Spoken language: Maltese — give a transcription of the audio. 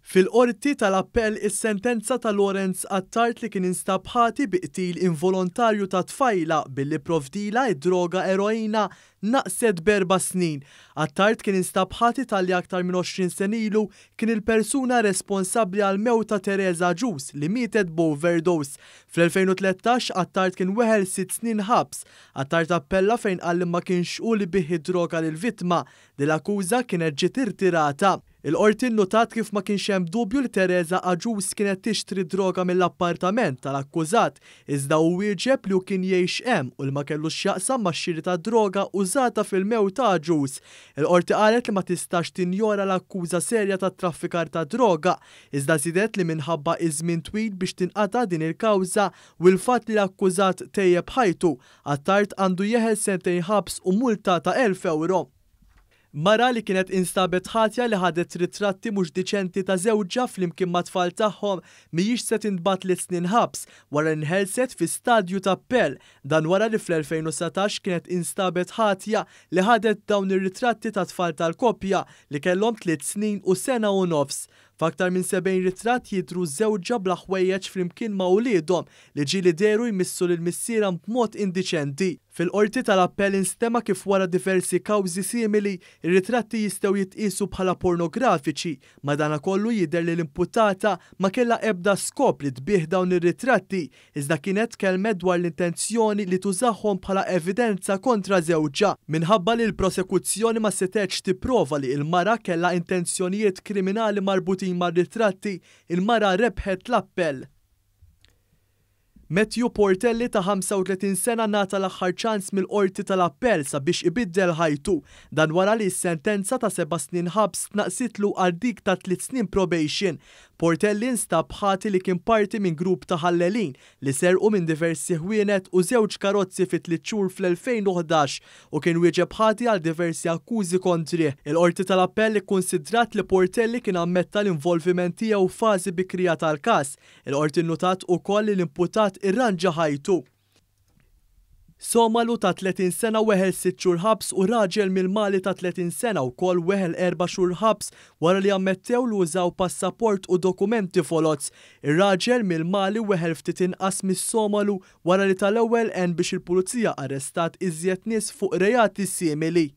Fil-Qorti tal-Appell is-sentenza ta' Lawrence Attard li kien instab ħati bi qtil involontarju ta' tfajla billi pprovdilha d-droga eroina naqset b'erba' snin. Attard kien instab ħati talli aktar minn 20 sena ilu kien il-persuna responsabbli għall-mewt ta' Teresa Agius li mietet b'overdose. Fl-2013 Attard kien weħel sitt snin ħabs. Attard appella fejn qal li ma kienx hu li biegħ id-droga lill-vittma. Din l-akkuża kienet ġiet irtirata. Il-Qorti nnutat kif ma kienx hemm dubju li Teresa Agius kienet tixtri d-droga mill-appartament tal-akkużat, iżda hu wieġeb li hu kien jgħix hemm u li ma kellux x'jaqsam max-xiri tad-droga użata fil-mewt ta' Agius. Il-Qorti qalet li ma tistax tinjora l-akkuża serja ta' traffikar ta' droga, iżda żiedet li minħabba iż-żmien twil biex tinqata' din il-kawża u l-fatt li l-akkużat tejjeb ħajtu, Attard għandu jeħel sentejn ħabs u multa ta' 1,000 ewro. Mara li kienet instabet ħatja li ħadet ritratti mhux diċenti ta' żewġha flimkien mat-tfal tagħhom mhijiex se tintbagħat tliet snin ħabs wara li nħelset fi stadju ta' appell. Dan wara li fl-2019 kienet instabet ħatja li ħadet dawn ir-ritratti ta' tfal tal-koppja li kellhom tliet snin u sena u nofs. F'aktar minn 70 ritratt jidhru żewġha bla ħwejjeġ flimkien ma' uliedhom li ġieli dehru jmissu lil missierhom b'mod indiċenti. Fil-Qorti tal-Appell instema' kif wara diversi kawżi simili, ir-ritratti jistgħu jitqiesu bħala pornografiċi. Madanakollu jidher li l-imputata ma kellha ebda skop li tbigħ dawn ir-ritratti, iżda kienet tkellmet dwar l-intenzjoni li tużahom bħala evidenza kontra żewġha. Minħabba li l-prosekuzzjoni ma setgħetx tipprova li l-mara kellha intenzjonijiet kriminali marbutin mar-ritratti, il-mara rebħet l-appell. Matthew Portelli ta' 35 sena ngħata l-aħħar ċans mill-Qorti tal-Appell sabiex ibiddel ħajtu. Dan wara li s-sentenza ta' seba' snin ħabs tnaqqsitlu għal dik ta' tliet snin probation. Portelli nstab ħati li kien parti minn grupp ta' ħallelin li serqu minn diversi ħwienet u żewġ karozzi fi tliet xhur fl-2011 u kien wieġeb ħati għal diversi akkużi kontrih. Il-Qorti tal-Appell ikkunsidrat li Portelli kien ammetta l-involviment tiegħu f'fażi bikrija tal-każ. Il-Qorti nnutat ukoll li l-imputat irranġa ħajtu. Somalu ta' 30 sena weħel sitt xhur ħabs u raġel mill-Mali ta' 30 sena wkoll weħel erba' xhur ħabs wara li ammettew li użaw passaport u dokumenti foloz. Ir-raġel mill-Mali weħel ftit inqas mis-Somalu wara li tal-ewwel għen biex il-pulizija arrestat iżjed nies fuq reati simili.